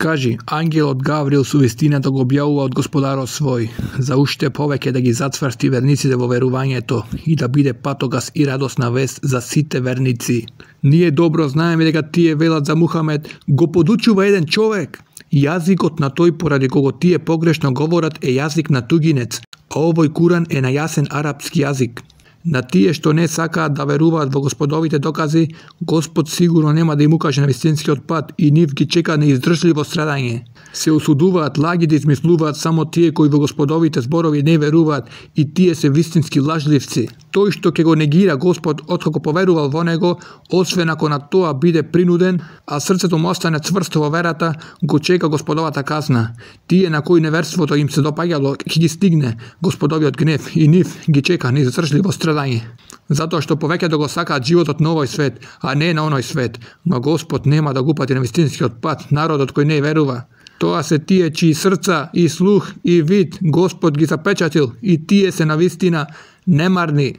Кажи, ангелот Гавриил со вистината го објавува од Господарот свој, за уште повеќе да ги зацврсти верниците во верувањето и да биде патогас и радосна вест за сите верници. Ние добро знаеме дека тие велат за Мухамед го подучува еден човек. Јазикот на тој поради кого тие погрешно говорат е јазик на тугинец, а овој Куран е на јасен арапски јазик. На тие што не сакаат да веруваат во Господовите докази, Господ сигурно нема да им укаже на вистинскиот пат и нив ги чека неиздржливо страдање. Се осудуваат лаги да измислуваат само тие кои во Господовите зборови не веруваат и тие се вистински лажливци. Тој што ќе го негира Господ откако поверувал во него, освен ако на тоа биде принуден, а срцето му остане цврсто во верата, го чека Господовата казна. Тие на кои неверството им се допаѓало, ќе ги стигне Господовиот гнев и нив ги чека неиздржливо страдање. Затоа што повеќе да го сакаат животот на овој свет, а не на оној свет, но Господ нема да го упати на вистинскиот пат народот кој не верува. Тоа се тие чии срца и слух и вид Господ ги запечатил и тие се навистина немарни.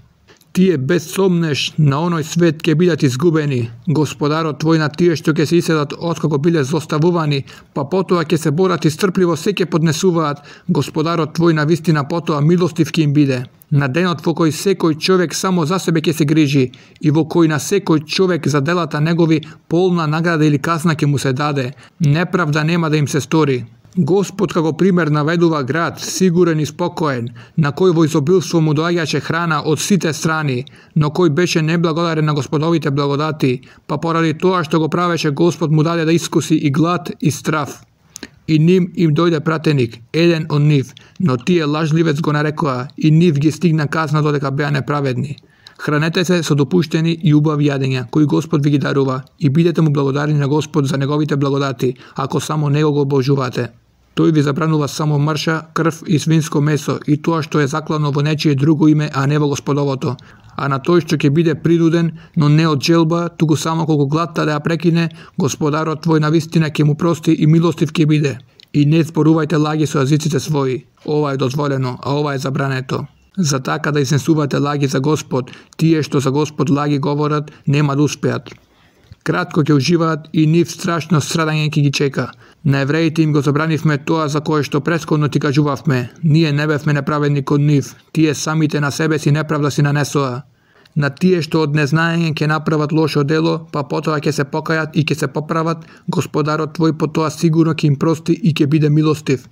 Тие без сомнеш на оној свет ќе бидат изгубени. Господарот твој на тие што ќе се иселат откако биле злоставувани, па потоа ќе се борат и стрпливо се ќе поднесуваат. Господарот твој на вистина потоа милостив ќе им биде. На денот во кој секој човек само за себе ќе се грижи и во кој на секој човек за делата негови полна награда или казна ќе му се даде, неправда нема да им се стори. Господ како пример наведува град, сигурен и спокоен, на кој во изобилство му доаѓаше храна од сите страни, но кој беше неблагодарен на Господовите благодати, па поради тоа што го правеше Господ му даде да искуси и глад и страв. И ним им дојде пратеник, еден од нив, но тие лажливец го нарекоа и нив ги стигна казна додека беа неправедни. Хранете се со допуштени и убави јадења, кои Господ ви ги дарува, и бидете му благодарни на Господ за неговите благодати, ако само него го обожувате. Тој ви забранува само мрша, крв и свинско месо и тоа што е заклано во нечие друго име, а не во Господовото. А на тој што ќе биде принуден, но не од желба, туку само колку гладта да ја прекине, Господарот твој навистина ќе му прости и милостив ќе биде. И не зборувајте лаги со јазиците своји. Ова е дозволено, а ова е забрането. За така да изнесувате лаги за Господ, тие што за Господ лаги говорат, нема да успеат. Кратко ќе уживаат и нив страшно страдање ќе ги чека. На евреите им го забранивме тоа за кое што претходно ти кажувавме. Ние не бевме неправедни кон нив, тие самите на себе си неправда си нанесоа. На тие што од незнаење ќе направат лошо дело, па потоа ќе се покајат и ќе се поправат, Господарот твој потоа сигурно ќе им прости и ќе биде милостив.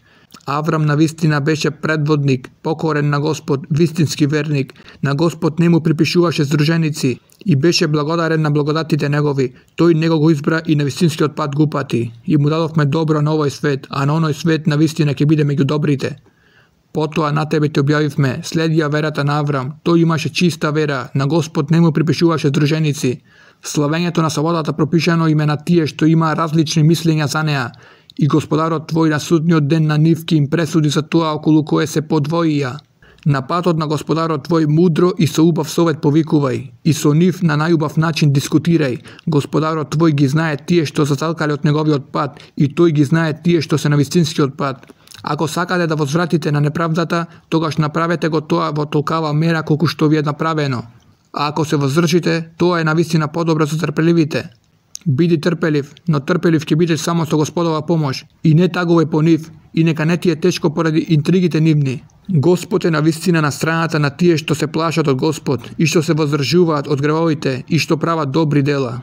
Аврам навистина беше предводник, покорен на Господ, вистински верник. На Господ не му припишуваше здруженици и беше благодарен на благодатите негови. Тој него го избра и на вистинскиот пат го упати. И му дадовме добро на овој свет, а на оној свет навистина ќе биде меѓу добрите. Потоа на тебе те објавивме, следи ја верата на Аврам. Тој имаше чиста вера, на Господ не му припишуваше здруженици. Славењето на слободата пропишано име на тие што има различни мислења за неа. И Господарот твој на судниот ден на нив ќе им пресуди за тоа околу кое се подвоија. На патот на Господарот твој мудро и со убав совет повикувај, и со нив на најубав начин дискутирај. Господарот твој ги знае тие што зацалкале од неговиот пат, и тој ги знае тие што се на вистинскиот пат. Ако сакате да возвратите на неправдата, тогаш направете го тоа во толкава мера колку што ви е направено. А ако се воздржите, тоа е навистина подобро за трпеливите. Биди трпелив, но трпелив ќе бидеш само со Господова помош, и не тагувај по нив, и нека не ти е тешко поради интригите нивни. Господ е навистина на страната на тие што се плашат од Господ, и што се воздржуваат од гревовите, и што прават добри дела.